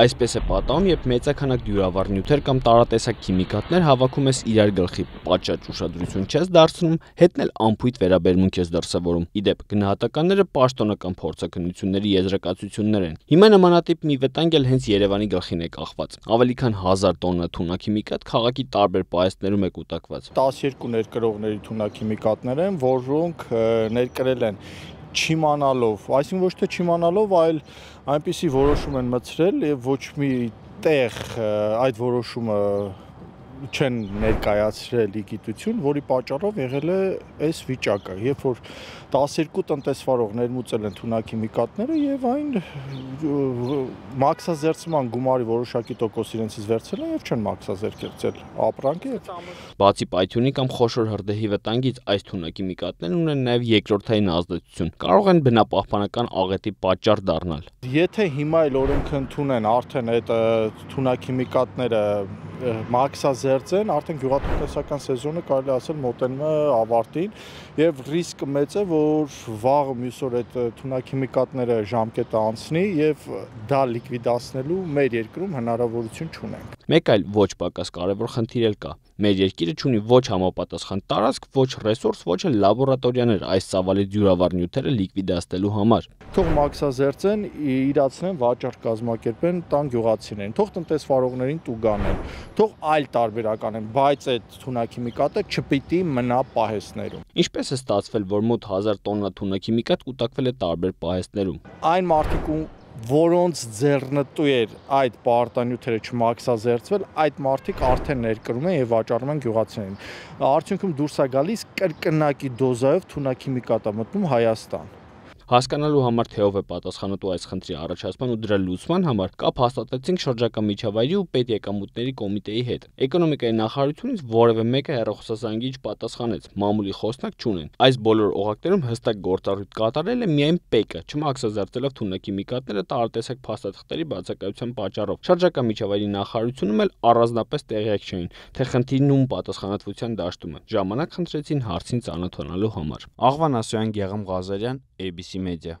Այսպես է պատահում, երբ մեծաքանակ դյուրավառ նյութեր կամ տարատեսակ քիմիկատներ հավաքում ես իրար գլխի, պատշաճ ուշադրություն չես դարձնում, հետն էլ անփույթ վերաբերմունք ես դրսևորում։ Իդեպ, գնահատականները պաշտոնական փորձաքննությունների եզրակացություններ են։ Հիմա նմանատիպ մի վտանգ էլ հենց Երևանի գլխին է կախված։ Ավելի քան 1000 տոննա թունաքիմիկատ քաղաքի տարբեր պահեստներում է կուտակված։ 12 ներկրողների թունաքիմիկատներ են, որոնք ներկրել են չիմանալով, այսինքն ոչ թե չիմանալով, այլ այնպիսի որոշում են մտցրել եւ ոչ մի տեղ այդ որոշումը չեն ներկայացրել գիտություն, որի պատճառով եղել է այս վիճակը, երբ որ 12 տնտեսվարող ներմուծել են թունաքիմիկատները եւ այն մաքսազերծման գումարի որոշակի տոկոս իրենցից վերցրել են եւ չեն մաքսազերծել ապրանքը։ Բացի պայթյունի կամ խոշոր հրդեհի վտանգից, այս թունաքիմիկատներն ունեն նաեւ երկրորդային ազդեցություն, կարող են բնապահպանական աղետի պատճառ դառնալ։ Եթե հիմա էլ օրենքը ընդունեն, արդեն այդ թունաքիմիկատները մաքսազերծեն, արդեն գյուղատնտեսական սեզոնը կարելի ասել մոտենում է ավարտին եւ ռիսկը մեծ է, որ վաղը մյուս օր այդ թունաքիմիկատները ժամկետը անցնի եւ դա լիկվիդացնելու մեր երկրում հնարավորություն չունենք։ Մեկ այլ ոչ պակաս կարևոր խնդիր էլ կա։ Մեր երկիրը չունի ոչ համապատասխան տարածք, ոչ ռեսուրս, ոչ էլ լաբորատորիաներ այս ծավալի դյուրավառ նյութերը լիկվիդացնելու համար։ Թող մաքսազերծեն, իրացնեն, վաճառք կազմակերպեն, տան գյուղացիներին, թող տնտեսվարողներին տուգանեն, թող այլ տարբերակ անեն, բայց այդ թունաքիմիկատը չպիտի մնա պահեստներում։ Ինչպես է ստացվել, որ մոտ 1000 տոննա թունաքիմիկատ կուտակվել է տարբեր պահեստներում։ Այն մարդիկ, որոնց ձեռնտու էր այդ պարտանյութերը չմաքսազերծվել, այդ մարդիկ արդեն ներկրում են եւ վաճառում են գյուղացիներին։ Արդյունքում դուրս է գալիս կրկնակի դոզայով թունաքիմիկատ է մտնում Հայաստան։ Հասկանալու համար, թե ով է պատասխանատու այս խնդրի առաջացման ու դրա լուծման համար, կապ հաստատեցինք շրջակա միջավայրի ու պետեկամուտների կոմիտեի հետ։ Էկոնոմիկայի նախարարությունից որևէ մեկը հեռախոսազանգիչ պատասխանեց, մամուլի խոսնակ չունեն։ Այս բոլոր օղակներում հստակ գործառույթ կատարել է միայն ՊԵԿ-ը, չմաքսազերծելով թունաքիմիկատները տարատեսակ փաստաթղթերի բացակայության պատճառով։ Շրջակա միջավայրի նախարարությունում էլ առանձնապես տեղյակ չէին, թե խնդիրն ում պատասխանատվության դաշտում է։ Ժամանակ խնդրեցին հարցին ծանոթանալու համար։ Աղվան Ասոյան, Գեղամ Ղազարյան, ABC Media։